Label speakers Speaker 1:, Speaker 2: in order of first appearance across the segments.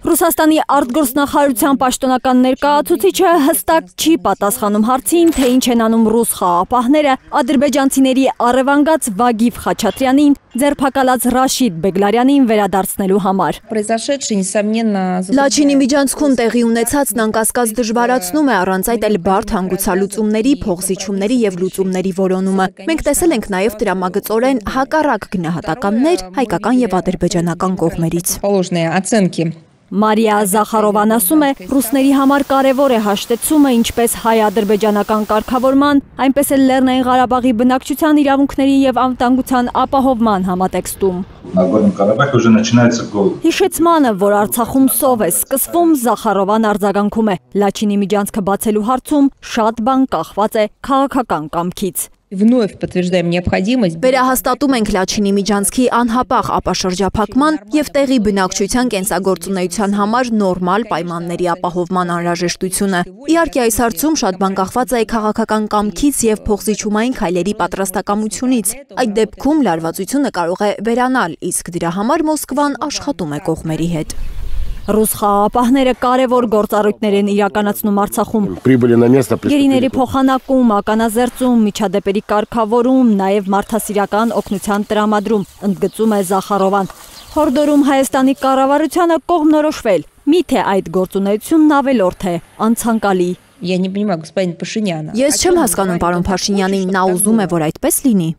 Speaker 1: Ռուսաստանի արտգործնախարարության պաշտոնական ներկայացուցիչը հստակ չի պատասխանում հարցին, թե ինչ են անում ռուս խաղաղապահները ադրբեջանցիների առևանգած Վագիվ Խաչատրյանին ձերբակալած Ռաշիդ Բեգլարյանին վերադարձնելու համար։
Speaker 2: Լաչինի միջանցքում տեղի ունեցածն անկասկած դժվարացնում է առանց այդ էլ բարդ հանգուցալուծումների, փոխզիջումների եւ լուծումների որոնումը։ Մենք տեսել ենք նաեւ տրամագծորեն հակառակ գնահատականներ հայկական եւ ադրբեջանական կողմերից։
Speaker 1: Մարիա Զախարովան ասում է, ռուսների համար կարևոր է հաշտեցումը ինչպես հայ-ադրբեջանական կարգավորման, այնպես էլ Լեռնային Ղարաբաղի բնակչության իրավունքների եւ անվտանգության ապահովման համատեքստում։ Հիշեցմանը, որ Արցախում սով է սկսվում, Զախարովան արձագանքում է։ Լաչինի միջանցքը բացելու հարցում շատ բան կախված է քաղաքական կամքից։
Speaker 2: Վերահաստատում ենք Լաչինի միջանցքի անհապաղ ապաշրջափակման եւ տեղի բնակչության կենսագործունեության համար նորմալ պայմանների ապահովման անհրաժեշտությունը։ Իհարկե այս հարցում շատ բան կախված է քաղաքական կամքից եւ փոխզիջումային քայլերի պատրաստակամությունից։ Այդ դեպքում լարվածությունը կարող է վերանալ, իսկ դրա համար Մոսկվան աշխատում է կողմերի հետ։
Speaker 1: Ռուս խաղաղապահները կարևոր գործառույթներ են իրականացնում Արցախում։ Գերիների փոխանակում, ականազերծում, միջադեպերի կարգավորում, նաև մարդասիրական օգնության տրամադրում, ընդգծում է Զախարովան։ Հորդորում Հայաստանի կառավարությանը կողմնորոշվել, միթե այդ գործունեությունն ավելորդ է, անցանկալի։
Speaker 2: Ես չեմ հասկանում պարոն Փաշինյանին, նա ուզում է, որ այդպես լինի։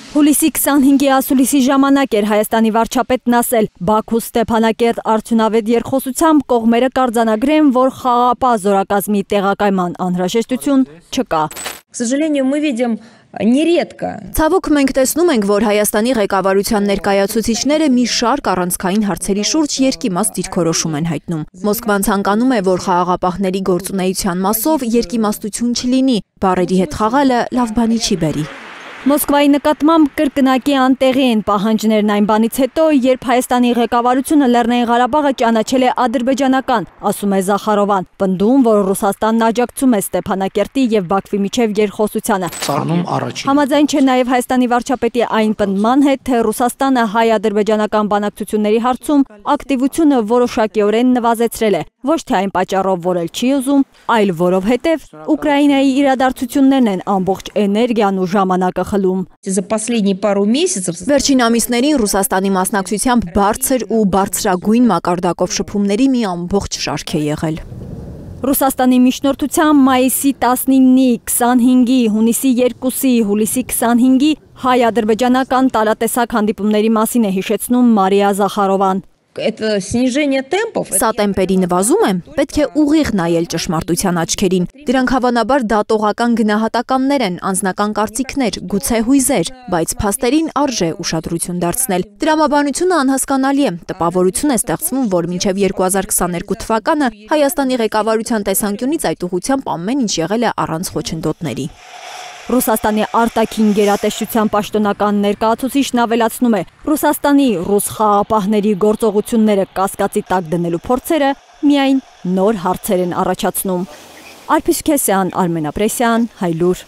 Speaker 1: Հուլիսի 25-ի ասուլիսի ժամանակ էր Հայաստանի վարչապետն ասել, Բաքու Ստեփանակերտ արդյունավետ երկխոսությամբ կողմերը կարձանագրեն, որ խաղաղապահ զորակազմի տեղակայման անհրաժեշտություն չկա։
Speaker 2: Ցավոք մենք տեսնում ենք, որ Հայաստանի ղեկավարության ներկայացուցիչները մի շարք առանցքային հարցերի շուրջ երկիմաստ դիրքորոշում են հայտնում։ Մոսկվան ցանկանում է, որ խաղաղապահների գործունեության մասով երկիմաստություն չլինի, բառերի հետ խաղալը լավ բանի չի բերի։
Speaker 1: Մոսկվայի նկատմամբ կրկնակի անտեղի են պահանջներն այն բանից հետո, երբ Հայաստանի ղեկավարությունը Լեռնային Ղարաբաղը ճանաչել է ադրբեջանական, ասում է Զախարովան, պնդում, որ Ռուսաստանն աջակցում է Ստեփանակերտի եւ Բաքվի միջև երկխոսությանը։ Համաձայն չէ նաեւ Հայաստանի վարչապետի այն պնդման հետ, թե Ռուսաստանը հայ-ադրբեջանական բանակցությունների հարցում ակտիվությունը որոշակիորեն նվազեցրել է, ոչ թե այն պատճառով, որ էլ չի ուզում, այլ որովհետև Ուկրաինայի իրադարձություններն են ամբողջ էներգիան ու ժամանակը խլում։
Speaker 2: Վերջին ամիսներին Ռուսաստանի մասնակցությամբ բարձր ու բարձրագույն մակարդակով շփումների մի ամբողջ շարք է եղել։
Speaker 1: Ռուսաստանի միջնորդությամբ մայիսի 19-ի, 25-ի, հունիսի 2-ի, հուլիսի 25-ի հայ-ադրբեջանական տարատեսակ հանդիպումների մասին է հիշեցնում Մարիա Զախարովան։
Speaker 2: Սա տեմպերի նվազում է, պետք է ուղիղ նայել ճշմարտության աչքերին։ Դրանք հավանաբար դատողական գնահատականներ են, անձնական կարծիքներ, գուցե հույզեր, բայց փաստերին արժե ուշադրություն դարձնել։ Տրամաբանությունը անհասկանալի է, տպավորություն է ստեղծվում, որ մինչև 2022 թվականը Հայաստանի ղեկավարության տեսանկյունից այդ ուղղությամբ ամեն ինչ եղել է առանց խոչընդոտների։
Speaker 1: Ռուսաստանի արտաքին գերատեսչության պաշտոնական ներկայացուցիչն ավելացնում է, Ռուսաստանի ռուս խաղաղապահների գործողությունները կասկածի տակ դնելու փորձերը միայն նոր հարցեր են առաջացնում։ Արփիս Քեսյան, Արմեն Ապրեսյան, Հայլուր։